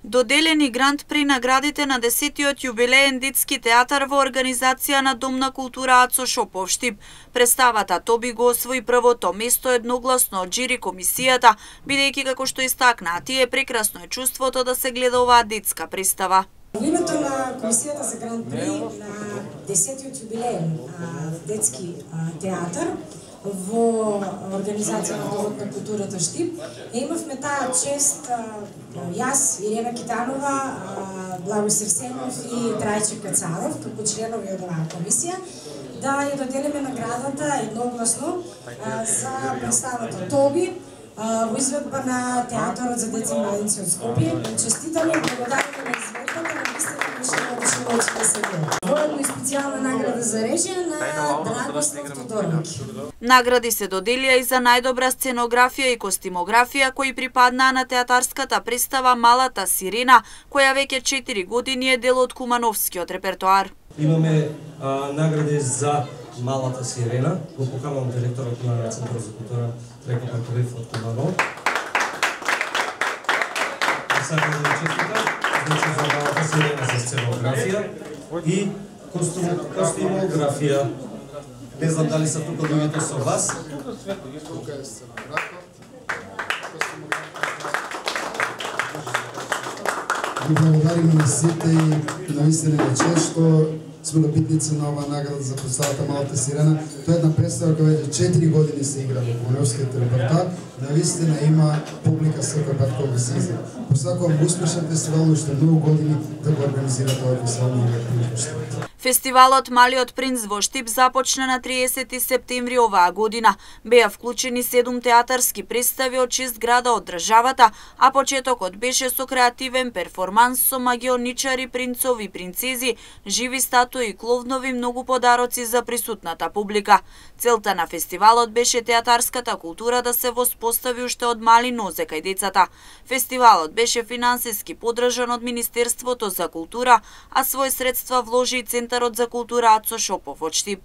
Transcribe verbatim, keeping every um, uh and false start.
Доделени гранд при наградите на десетиот јубилеен детски театар во организација на Дом на култура Ацо Шопов Штип. Представата Тоби го освои првото место едногласно од жири комисијата, бидејќи како што истакнаа тие, прекрасно е чувството да се гледа оваа детска представа. Во името на комисијата за гранд при на десетиот јубилеен детски театар во организација на Домот на културата Штип, имавме таа чест јас, Ирена Китанова, Благој Серсенов и Трајче Кацаров, како членови од оваа комисија, да ја доделиме наградата едногласно за представата Тоби во изведба на Театарот за деца и младинци од Скопје. Честитаме и благодариме на изведбата на листата Мишело Мишеловичка СГ. Воедно и специјална награда за режија на Драгослав Тодоровиќ. Награди се доделија и за најдобра сценографија и костимографија кои припаднаа на театарската представа Малата сирена, која веќе четири години е дел од кумановскиот репертоар. Имаме а, награди за Малата сирена, го поканувам директорот на Центарот за култура Треко Паковив од Куманов. Сакам да ви честитам, значи за Малата сирена за сценографија и костимографија. Не знам дали са тука луѓето со вас. Ви благодариме на сите и наистина е чест што сме добитници на оваа награда за представата Малата сирена. Тоа е една представа која веќе четири години се игра во Кумановскиот репертоар. Наистина има публика секој пат кога се изгледа. Посакувам успешен фестивал, уште многу години да го организира тоа фестивал на Штип. Фестивалот Малиот принц во Штип започна на триесети септември оваа година. Беа вклучени седум театарски представи од шест града од државата, а почетокот беше со креативен перформанс со магионичари, принцови и принцези, живи статуи и кловнови, многу подароци за присутната публика. Целта на фестивалот беше театарската култура да се воспостави уште од мали нозе кај децата. Фестивалот беше финансиски поддржан од Министерството за култура, а свој средства вложи и Центарот за култура Ацо Шопов од Штип.